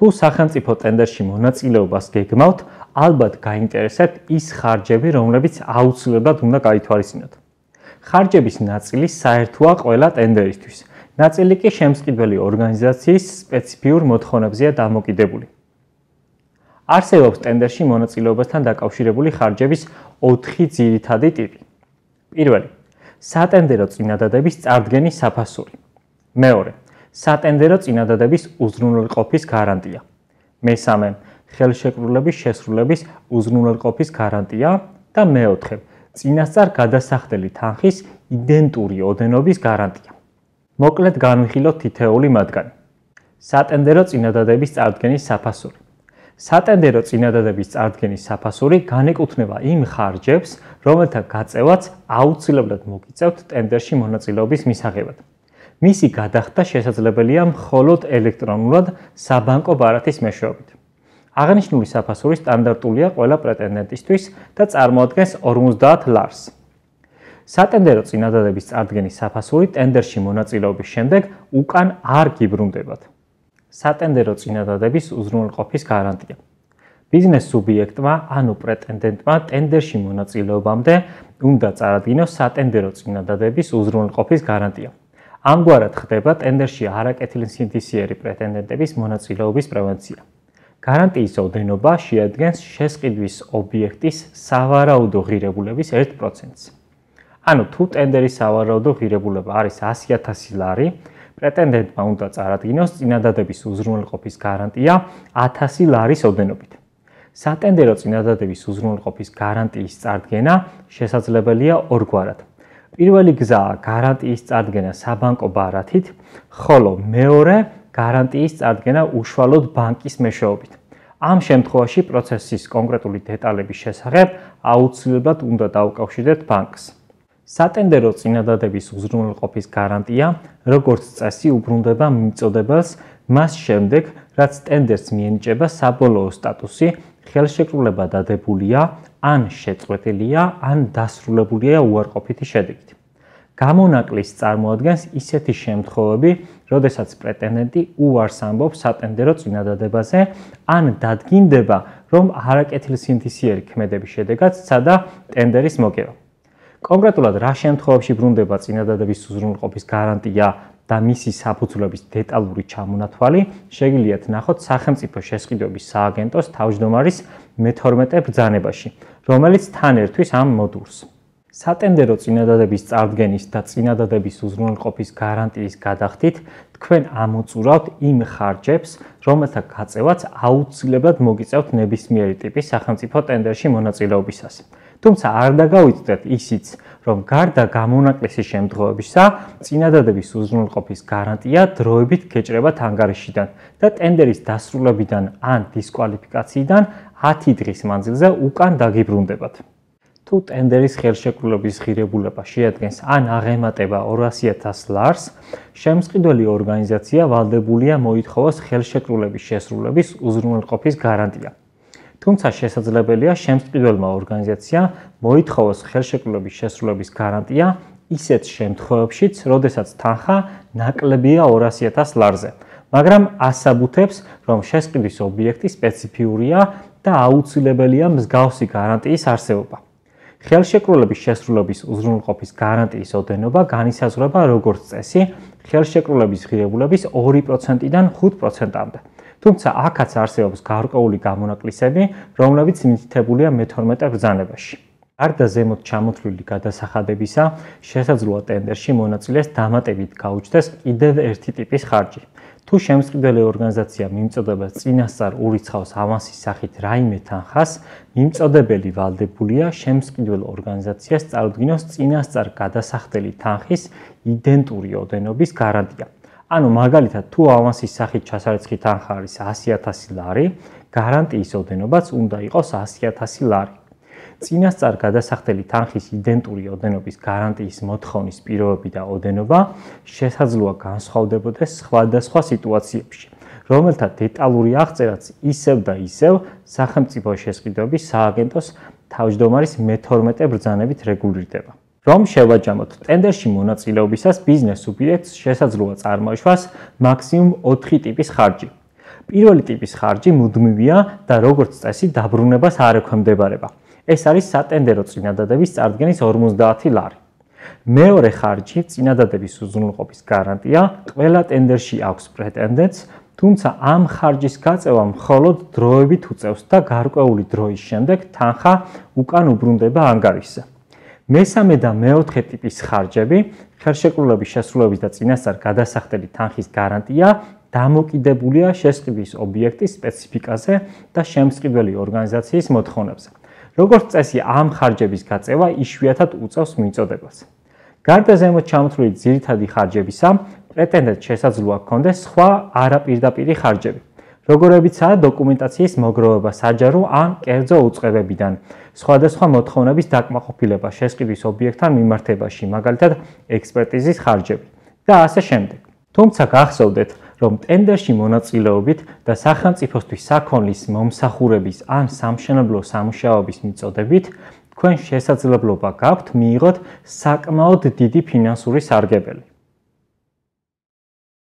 თუ სახელმწიფო ტენდერში მონაწილეობას გეგმავთ, ალბათ გაინტერესებთ ის ხარჯები, რომლებიც აუცილებლად უნდა გაითვალისწინოთ. ხარჯების ნაწილი საერთოა ყველა ტენდერისთვის. ნაწილი კი შემსყიდველი ორგანიზაციის სპეციფიურ მოთხოვნებზეა დამოკიდებული. არსებობს ტენდერში მონაწილეობასთან დაკავშირებული ხარჯების 4 ძირითადი ტიპი. პირველი, სატენდერო წინადადების წარდგენის საფასური. მეორე, სატენდერო წინადადების უზრუნველყოფის გარანტია. მესამე, ხელშეკრულების შესრულების უზრუნველყოფის გარანტია და მეოთხე, წინასწარ გადასახდელი თანხის იდენტური ოდენობის გარანტია. მოკლედ განვიხილოთ თითოეული მათგანი. სატენდერო წინადადების წარდგენის საფასური. სატენდერო წინადადების წარდგენის საფასური განეკუთვნება იმ ხარჯებს, რომელთა გაწევაც აუცილებლად მოგიწევთ ტენდერში მონაწილეობის მისაღებად. მისი გადახდა შესაძლებელია მხოლოდ ელექტრონულად საბანკო ბარათის მეშვეობით. აღნიშნული საფასური სტანდარტულია ყველა პრეტენდენტისთვის და წარმოადგენს 50 ლარს. სატენდერო წინადადების წარდგენის საფასური ტენდერში მონაწილეობის შემდეგ უკან არ გიბრუნდებათ. სატენდერო წინადადების უზრუნველყოფის გარანტია. ბიზნეს სუბიექტმა ანუ პრეტენდენტმა ტენდერში მონაწილეობამდე უნდა წარადგინოს სატენდერო წინადადების უზრუნველყოფის გარანტია. ამგვარად ხდება ტენდერში არაკეთილსინდისიერი პრეტენდენტების მონაწილეობის პრევენცია. გარანტიის ოდენობა შეადგენს შესყიდვის ობიექტის სავარაუდო ღირებულების 1%-ს. ანუ თუ ტენდერის სავარაუდო ღირებულება არის 100.000 ლარი, პრეტენდენტმა უნდა წარადგინოს წინადადების უზრუნველყოფის გარანტია 1000 ლარის ოდენობით. სატენდერო წინადადების უზრუნველყოფის გარანტიის წარდგენა შესაძლებელია ორგვარად. პირველი გზაა გარანტიის წარდგენა საბანკო ბარათით, ხოლო მეორე გარანტიის წარდგენა უშუალოდ ბანკის მეშვეობით. ამ შემთხვევაში პროცესის კონკრეტული დეტალების შესახებ აუცილებლად უნდა დაუკავშირდეთ ბანკს. სატენდერო წინადადების უზრუნველყოფის გარანტია, როგორც წესი, უბრუნდება მიმწოდებელს მას შემდეგ, რაც ტენდერს მიენიჭება საბოლოო სტატუსი, ხელშეკრულება დადებულია, ან შეწყვეტილია, ან დასრულებულია უარყოფითი შედეგით. გამონაკლისს წარმოადგენს ისეთი შემთხვევები, როდესაც პრეტენდენტი უარს ამბობს სატენდერო წინადადებაზე, ან დადგინდება, რომ არაკეთილსინდისიერი ქმედების შედეგად სცადა ტენდერის მოგება. კონკრეტულად რა შემთხვევებში ბრუნდება წინადადების უზრუნველყოფის გარანტია და მისი საფუძვლების დეტალური ჩამონათვალი, შეგიძლიათ ნახოთ სახელმწიფო შესყიდვების სააგენტოს თავმჯდომარის მე-12 ბრძანებაში, რომელიც თან ერთვის ამ მოდულს. სატენდერო წინადადების წარდგენის და წინადადების უზრუნველყოფის გარანტიის გადახდით თქვენ ამოწურავთ იმ ხარჯებს, რომელთა გაწევაც აუცილებლად მოგიწევთ ნებისმიერი ტიპის სახელმწიფო ტენდერში მონაწილეობისას. თუმცა არ დაგავიწყდეთ ისიც, რომ გარდა გამონაკლისის შემთხვევებისა, წინადადების უზრუნველყოფის გარანტია დროებით გეჭრებათ ანგარიშიდან და ტენდერის დასრულებიდან ან დისკვალიფიკაციიდან 10 დღის მანძილზე უკან დაგიბრუნდებათ. თუ ტენდერის ხელშეკრულების ღირებულება შეადგენს ან აღემატება 200.000 ლარს, შემსყიდველი ორგანიზაცია ვალდებულია მოითხოვოს ხელშეკრულების შესრულების უზრუნველყოფის გარანტია. თუმცა შესაძლებელია შემსყიდველმა ორგანიზაციამ მოითხოვოს ხელშეკრულების შესრულების გარანტია ისეთ შემთხვევებშიც, როდესაც თანხა ნაკლებია 200.000 ლარზე, მაგრამ ასაბუთებს, რომ შესყიდვის ობიექტი სპეციფიურია და აუცილებელია მსგავსი გარანტიის არსებობა. ხელშეკრულების შესრულების უზრუნველყოფის გარანტიის ოდენობა განისაზღვრება როგორც წესი ხელშეკრულების ღირებულების 2%-დან 5%-მდე. თუმცა აქაც არსებობს გარკვეული გამონაკლისები, რომლებიც მითითებულია მე-12 ბრძანებაში. გარდა ზემოთ ჩამოთვლილი გადასახადებისა, შესაძლოა ტენდერში მონაწილეს დამატებით გაუჩნდეს კიდევ ერთი ტიპის ხარჯი. თუ შემსყიდველი ორგანიზაცია მიმწოდებელს წინასწარ ურიცხავს ავანსის სახით რაიმე თანხას, მიმწოდებელი ვალდებულია შემსყიდველ ორგანიზაციას წარუდგინოს წინასწარ გადასახდელი თანხის იდენტური ოდენობის გარანტია. ანუ მაგალითად, თუ ავანსის სახით ჩასარიცხი თანხა არის 100.000 ლარი, გარანტიის ოდენობაც უნდა იყოს 100.000 ლარი. წინასწარ გადასახდელი თანხის იდენტური ოდენობის გარანტიის მოთხოვნის პირობები და ოდენობა შესაძლოა განსხვავდებოდეს სხვადასხვა სიტუაციებში, რომელთა დეტალური აღწერაც ისევ და ისევ სახელმწიფო შესყიდვების სააგენტოს თავმჯდომარის მე-12 ბრძანებით რეგულირდება. რომ შევაჯამოთ, ტენდერში მონაწილეობისას ბიზნეს სუბიექტს შესაძლოა წარმოიშვას მაქსიმუმ 4 ტიპის ხარჯი. პირველი ტიპის ხარჯი მუდმივია და როგორც წესი დაბრუნებას არ ექვემდებარება. ეს არის სატენდერო წინადადების წარდგენის 50 ლარი. მეორე ხარჯი წინადადების უზრუნველყოფის გარანტია ყველა ტენდერში აქვს პრეტენდენტს, თუმცა ამ ხარჯის გაწევა მხოლოდ დროებით უწევს და გარკვეული დროის შემდეგ თანხა უკან უბრუნდება ანგარიშზე. მესამე და მეოთხე ტიპის ხარჯები, ხელშეკრულების შესრულების და წინასწარ გადასახდელი თანხის გარანტია დამოკიდებულია შესყიდვის ობიექტის სპეციფიკაზე და შემსყიდველი ორგანიზაციის მოთხოვნებზე. როგორც წესი, ამ ხარჯების გაწევა იშვიათად უწევს მიწოდებას. გარდა ზემოთ ჩამოთვლილი ძირითადი ხარჯებისა, პრეტენდენტს შესაძლოა ჰქონდეს სხვა არაპირდაპირი ხარჯები, როგორებიცაა დოკუმენტაციის მოგროვება საჯარო ან კერძო უწყებებიდან, სხვადასხვა მოთხოვნების დაკმაყოფილება შესყიდვის ობიექტთან მიმართებაში, მაგალითად ექსპერტიზის ხარჯები და ასე შემდეგ. თუმცა გახსოვდეთ, რომ ტენდერში მონაწილეობით და სახელმწიფოსთვის საქონლის მომსახურების ან სამშენებლო სამუშაოების მიწოდებით თქვენ შესაძლებლობა გაქვთ მიიღოთ საკმაოდ დიდი ფინანსური სარგებელი.